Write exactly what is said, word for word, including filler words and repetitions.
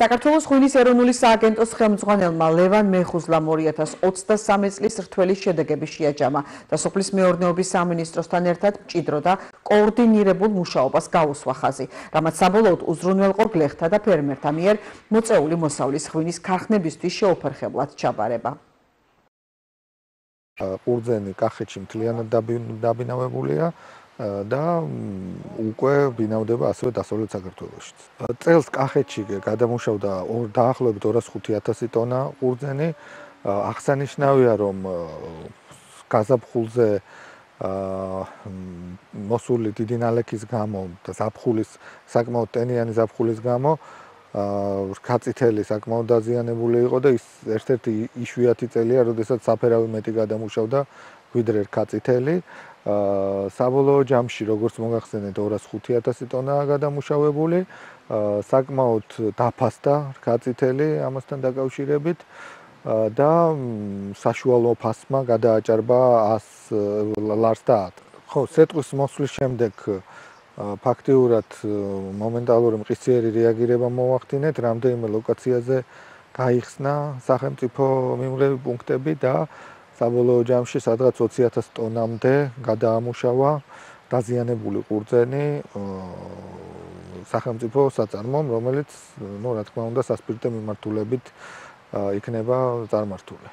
საქართველოს ღვინის ეროვნული სააგენტოს ხელმძღვანელმა ლევან მეხუზლამ ორი ათას ოცდასამი წლის რთველი შედეგები შეაჯამა და სოფლის მეურნეობის სამინისტროსთან ერთად მჭიდრო და კოორდინირებულ მუშაობას გაუსვა ხაზი, რამაც საბოლოოდ უზრუნველყო გლეხთა და ფერმერთა მიერ მოწეული მოსავლის ღვინის ქარხნებისთვის შეუფერხებლად ჩაბარება. ყურძენი კახეთში მთლიანად დაბინავებულია და უკვე ბინავდება ასევე დასავლეთ საქართველოში. წელს კახეთში გადამუშავდა დაახლოებით ორას ხუთი ათასი ტონა ყურძენი. აღსანიშნავია, რომ გაზაფხულზე მოსული დიდი ნალექის გამო და ზაფხულის საკმაოდ ტენიანი ზაფხულის გამო რქაწითელი საკმაოდ დაზიანებული იყო და ის ერთ-ერთი იშვიათი წელია, როდესაც საფერავი მეტი გადამუშავდა ვიდრე რქაწითელი. საბოლოო ჯამში, როგორც მოგახსენეთ, ორას ხუთი ათასი ტონაა გადამუშავებული, საკმაოდ დაფასდა რქაწითელი ამასთან დაკავშირებით და საშუალო ფასმა გადააჭარბა ას ლარს და ათ. ხო, სეტყვის მოსვლის შემდეგ ფაქტიურად მომენტალური მყისიერი რეაგირება მოვახდინეთ, რამდენიმე ლოკაციაზე გაიხსნა სახელმწიფო მიმღები პუნქტები და საბოლოო ჯამში სადღაც ოცი ათას ტონამდე გადაამუშავა დაზიანებული ყურძენი სახელმწიფო საწარმომ, რომელიც, ну, რა თქმა უნდა, სასპირტო მიმართულებით იქნება წარმართული.